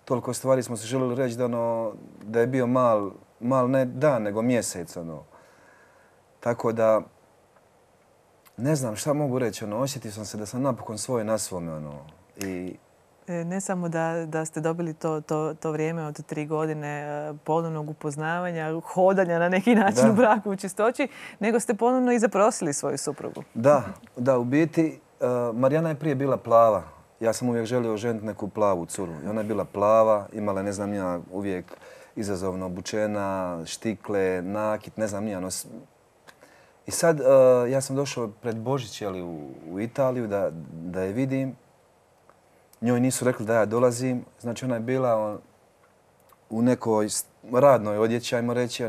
Toliko stvari smo se željeli reći da je bio mal ne dan, nego mjesec. Tako da, ne znam šta mogu reći, osjetio sam se da sam napokon svoj na svome. Ne samo da ste dobili to vrijeme od 3 godine ponovnog upoznavanja, hodanja na neki način u braku u čistoći, nego ste ponovno i zaprosili svoju suprugu. Da, u biti Marijana je prije bila plava. Ja sam uvijek želio ženiti neku plavu curu. I ona je bila plava, imala, ne znam ja, uvijek izazovno obučena, štikle, nakit, ne znam ja. I sad ja sam došao pred Božić u Italiju da je vidim. Njoj nisu rekli da ja dolazim, znači ona je bila u nekoj radnoj odjeći, ajmo reći,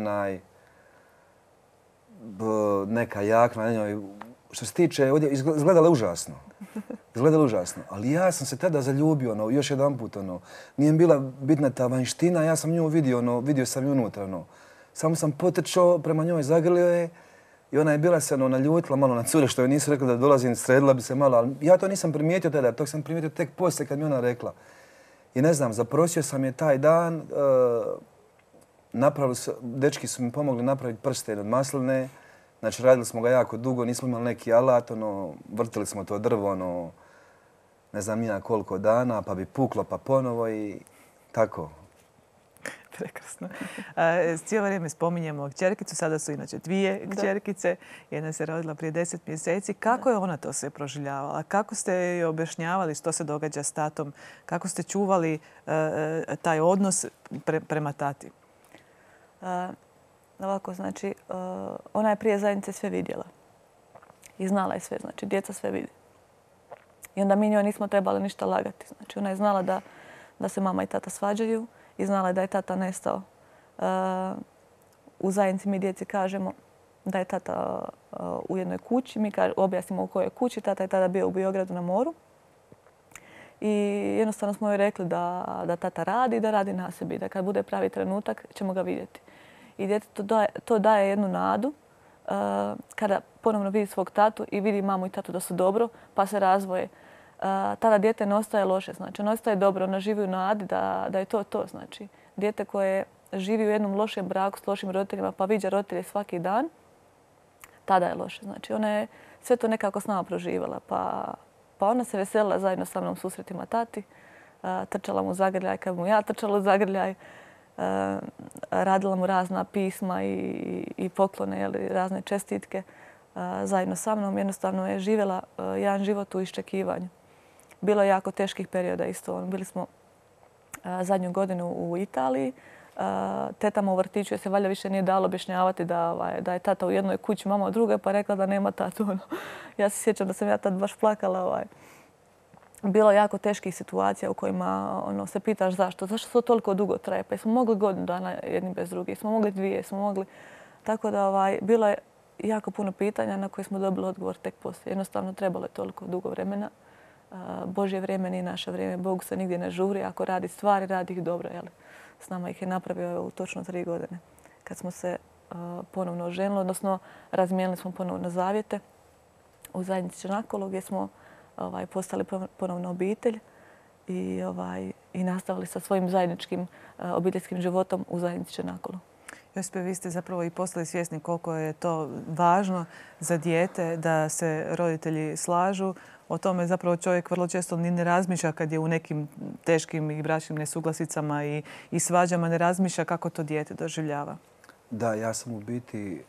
neka jakna na njoj. Što se tiče, izgledala je užasno. Ali ja sam se tada zaljubio, još jedan put. Nije mi bila bitna ta vanjština, ja sam nju vidio sam ju unutra. Samo sam potrčao prema njoj, zagrlio je. I ona je bila se naljutila malo na cure što joj nisu rekli da dolazim, sredila bi se malo, ali ja to nisam primijetio tada, to sam primijetio tek poslije kad mi ona rekla. I ne znam, zaprosio sam je taj dan, dečki su mi pomogli napraviti prsten od masline, znači radili smo ga jako dugo, nismo imali neki alat, vrtili smo to drvo, ne znam ja koliko dana, pa bi puklo pa ponovo i tako. Prekrasno. Cijelo vrijeme spominjemo kćerkicu, sada su inače 2 kćerkice. Jedna se rodila prije 10 mjeseci. Kako je ona to sve proživljavala? Kako ste joj objašnjavali što se događa s tatom? Kako ste čuvali taj odnos prema tati? Ovako, znači, ona je prije zajednice sve vidjela. I znala je sve, znači, djeca sve vidi. I onda mi njoj nismo trebali ništa lagati. Znači, ona je znala da se mama i tata svađaju. I znala je da je tata nestao. U zajednici mi djeci kažemo da je tata u jednoj kući. Mi objasnimo u kojoj kući. Tata je tada bio u Biogradu na moru. I jednostavno smo joj rekli da tata radi i da radi na sebi. Da kad bude pravi trenutak ćemo ga vidjeti. I djetetu to daje jednu nadu kada ponovno vidi svog tatu i vidi mamu i tatu da su dobro pa se razvoje. tada dijete ne ostaje loše. Znači, ono ostaje dobro, ona živi u nadi da je to. Znači, dijete koje živi u jednom lošem braku s lošim roditeljima pa viđa roditelje svaki dan, tada je loše. Znači, ona je sve to nekako s nama proživala. Pa ona se veselila zajedno sa mnom susretima tati. Trčala mu zagrljaj kad mu ja trčala u zagrljaj. Radila mu razna pisma i poklone, razne čestitke zajedno sa mnom. Jednostavno je živjela jedan život u iščekivanju. Bilo je jako teških perioda isto. Bili smo zadnju godinu u Italiji. Tetama u vrtiću je se valjda više nije dalo objašnjavati da je tata u jednoj kući, mama u drugoj, pa rekla da nema tatu. Ja se sjećam da sam ja tad baš plakala. Bilo je jako teških situacija u kojima se pitaš zašto. Zašto to toliko dugo traje? Pa smo mogli godinu dana jedni bez drugih, smo mogli dvije, smo mogli... Tako da bilo je jako puno pitanja na koje smo dobili odgovor tek poslije. Jednostavno trebalo je toliko dugo vremena. Božje vrijeme nije naše vrijeme. Bog se nigdje ne žuri. Ako radi stvari, radi ih dobro. S nama ih je napravio u točno 3 godine. Kad smo se ponovno oženili, odnosno razmijenili smo ponovno zavjete u zajednici Čenakolo gdje smo postali ponovno obitelj i nastavili sa svojim zajedničkim obiteljskim životom u zajednici Čenakolo. Josipe, vi ste zapravo i postali svjesni koliko je to važno za dijete da se roditelji slažu. O tome zapravo čovjek vrlo često ni ne razmišlja kad je u nekim teškim i bračnim nesuglasicama i svađama, ne razmišlja kako to dijete doživljava. Da, ja sam u biti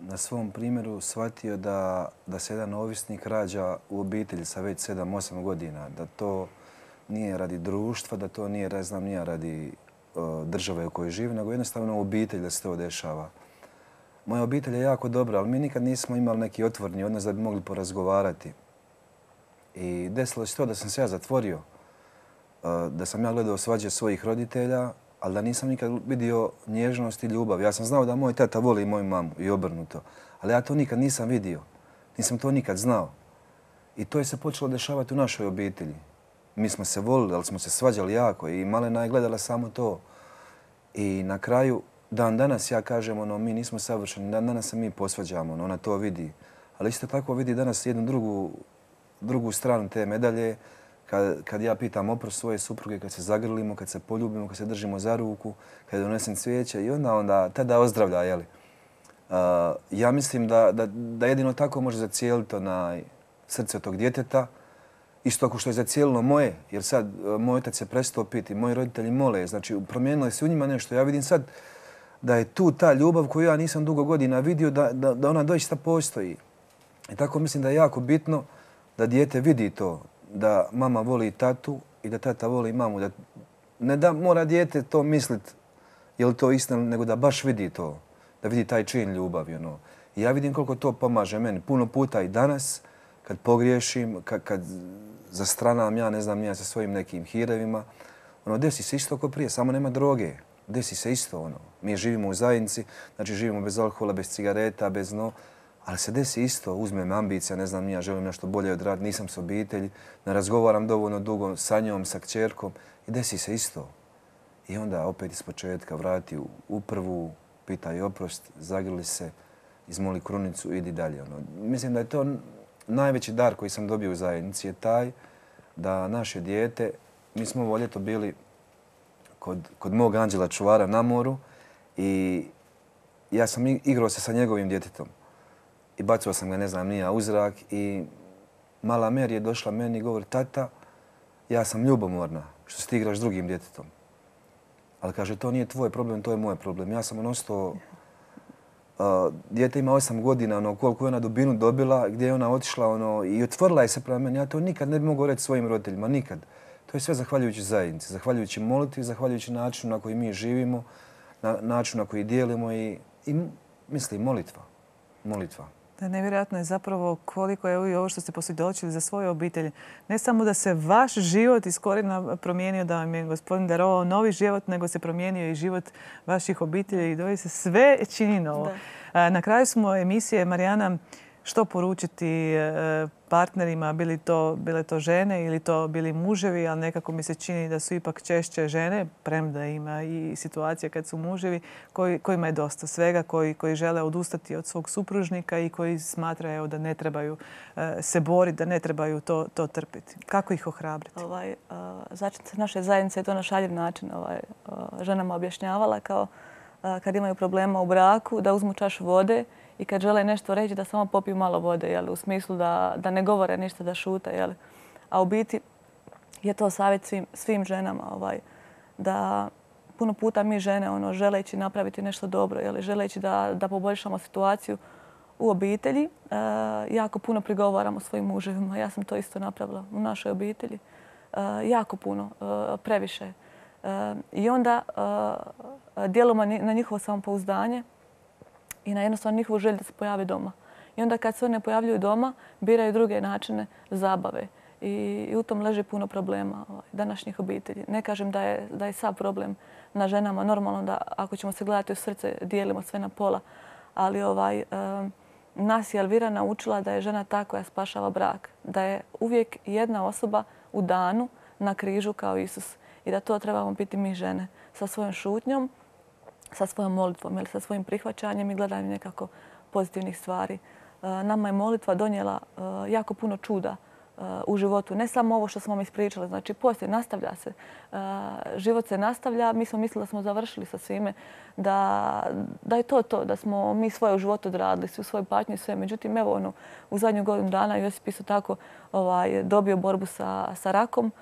na svom primjeru shvatio da se jedan ovisnik rađa u obitelji sa već 7-8 godina. Da to nije radi društva, da to nije, radi države u kojoj živi, nego jednostavno u obitelji da se to dešava. Moja obitelj je jako dobra, ali mi nikad nismo imali neki otvorni odnos da bi mogli porazgovarati. I desilo se to da sam se ja zatvorio, da sam ja gledao svađe svojih roditelja, ali da nisam nikad vidio nježnost i ljubav. Ja sam znao da moj tata voli moju mamu i obrnuto, ali ja to nikad nisam vidio. Nisam to nikad znao. I to je se počelo dešavati u našoj obitelji. Mi smo se volili, ali smo se svađali jako i malena je gledala samo to. I na kraju, dan danas ja kažem, mi nismo savršeni, dan danas se mi posvađamo, ona to vidi. Ali isto tako vidi danas jednu drugu stranu te medalje, kad ja pitam oprost svoje supruge, kad se zagrlimo, kad se poljubimo, kad se držimo za ruku, kad donesem cvijeće i onda tada ozdravlja, jeli. Ja mislim da jedino tako može zacijeliti srce tog djeteta, isto ako što je zacijelilo moje, jer sad moj otac se prestao piti, moji roditelji mole, znači promijenilo se u njima nešto. Ja vidim sad da je tu ta ljubav koju ja nisam dugo godina vidio, da ona doista postoji. I tako mislim da je jako bitno da dijete vidi to, da mama voli tatu i da tata voli mamu. Ne da mora dijete to misliti je li to istina, nego da baš vidi to, da vidi taj čin ljubavi. I ja vidim koliko to pomaže meni. Puno puta i danas, kad pogriješim, kad zastranam ja sa svojim nekim hirevima, desi se isto kao prije, samo nema droge. Desi se isto. Mi živimo u zajednici, znači živimo bez alkohola, bez cigareta, bez ali se desi isto, uzme me ambicija, ja želim nešto bolje odraditi, nisam s obitelji, ne razgovaram dovoljno dugo sa njom, sa kćerkom i desi se isto. I onda opet iz početka vrati u prvu, pitaj oprost, zagrli se, izmoli krunicu, idi dalje. Mislim da je to najveći dar koji sam dobio u zajednici je taj da naše dijete, mi smo ovo ljeto bili kod mog anđela čuvara na moru i ja sam igrao se sa njegovim djetetom. I bacao sam ga, u zrak i mala Mary je došla meni i govori, tata, ja sam ljubomorna što se ti igraš s drugim djetetom. Ali kaže, to nije tvoj problem, to je moj problem. Ja sam ostao, dijete ima 8 godina, koliko je ona dubinu dobila, gdje je ona otišla i otvorila je se prema meni. Ja to nikad ne bi mogao reći svojim roditeljima, nikad. To je sve zahvaljujući zajednici, zahvaljujući molitvi, zahvaljujući načinu na koji mi živimo, načinu na koji dijelimo i mislim, molitva. Nevjerojatno je zapravo koliko je ovo što ste posvjedočili za svoju obitelj. Ne samo da se vaš život iz korijena promijenio, da vam je Gospodin darovao novi život, nego se promijenio i život vaših obitelji i doista sve čini novo. Na kraju smo emisije, Marijana, Što poručiti partnerima, bile to žene ili to bili muževi, ali nekako mi se čini da su ipak češće žene, premda ima i situacija kad su muževi, kojima je dosta svega, koji žele odustati od svog supružnika i koji smatraju da ne trebaju se boriti, da ne trebaju to trpiti. Kako ih ohrabriti? Začetnica naše zajednice je to na šaljiv način ženama objašnjavala kao kad imaju problema u braku, da uzmu čašu vode i kad žele nešto reći da samo popiju malo vode, u smislu da ne govore ništa, da šute. A u biti je to savjet svim ženama da puno puta mi žene želeći napraviti nešto dobro, želeći da poboljšamo situaciju u obitelji, jako puno prigovaramo svojim muževima. Ja sam to isto napravila u našoj obitelji. Jako puno, previše. I onda djelujemo na njihovo samopouzdanje i na jednostavno njihovu želju da se pojave doma. I onda kad se one pojavljuju doma, biraju druge načine zabave. I u tom leži puno problema današnjih obitelji. Ne kažem da je sav problem na ženama. Normalno da ako ćemo se gledati u srce, dijelimo sve na pola. Ali nas je Elvira naučila da je žena ta koja spašava brak. Da je uvijek jedna osoba u danu na križu kao Isus. I da to trebamo biti mi žene sa svojom šutnjom, sa svojom molitvom ili sa svojim prihvaćanjem i gledanjem nekako pozitivnih stvari. Nama je molitva donijela jako puno čuda u životu. Ne samo ovo što smo vam ispričali, znači poslije nastavlja se. Život se nastavlja. Mi smo mislili da smo završili sa svime, da je to, da smo mi svoje u životu odradili, svu svoju patnju i sve. Međutim, evo u zadnju godinu dana Josip isto tako dobio borbu sa rakom.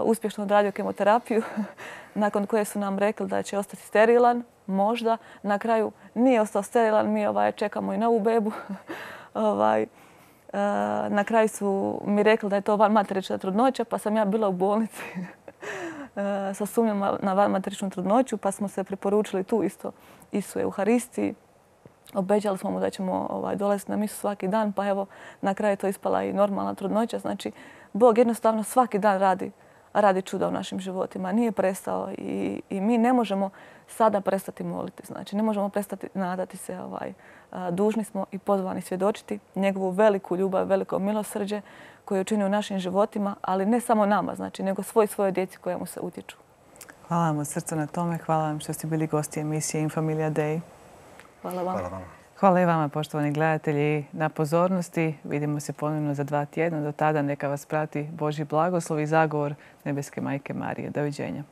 Uspješno odradio kemoterapiju, nakon koje su nam rekli da će ostati sterilan, možda. Na kraju nije ostao sterilan, mi čekamo i novu bebu. Na kraju su mi rekli da je to vanmaterična trudnoća, pa sam ja bila u bolnici sa sumnjom na vanmateričnu trudnoću, pa smo se preporučili tu isto Isu Euharistiji. Obećali smo mu da ćemo dolaziti na misu svaki dan, pa evo na kraju je to ispala i normalna trudnoća. Znači, Bog jednostavno svaki dan radi čuda u našim životima. Nije prestao i mi ne možemo sada prestati moliti. Znači, ne možemo prestati nadati se. Dužni smo i pozvani svjedočiti njegovu veliku ljubav, veliko milosrđe koje je učinio u našim životima, ali ne samo nama, znači, nego svojoj djeci koja mu se utječu. Hvala vam od srca na tome. Hvala vam što ste bili gosti emisije Infamilia Day. Hvala vam. Hvala i vama, poštovani gledatelji, na pozornosti. Vidimo se ponovno za 2 tjedna. Do tada neka vas prati Božji blagoslov i zagovor Nebeske Majke Marije. Doviđenja.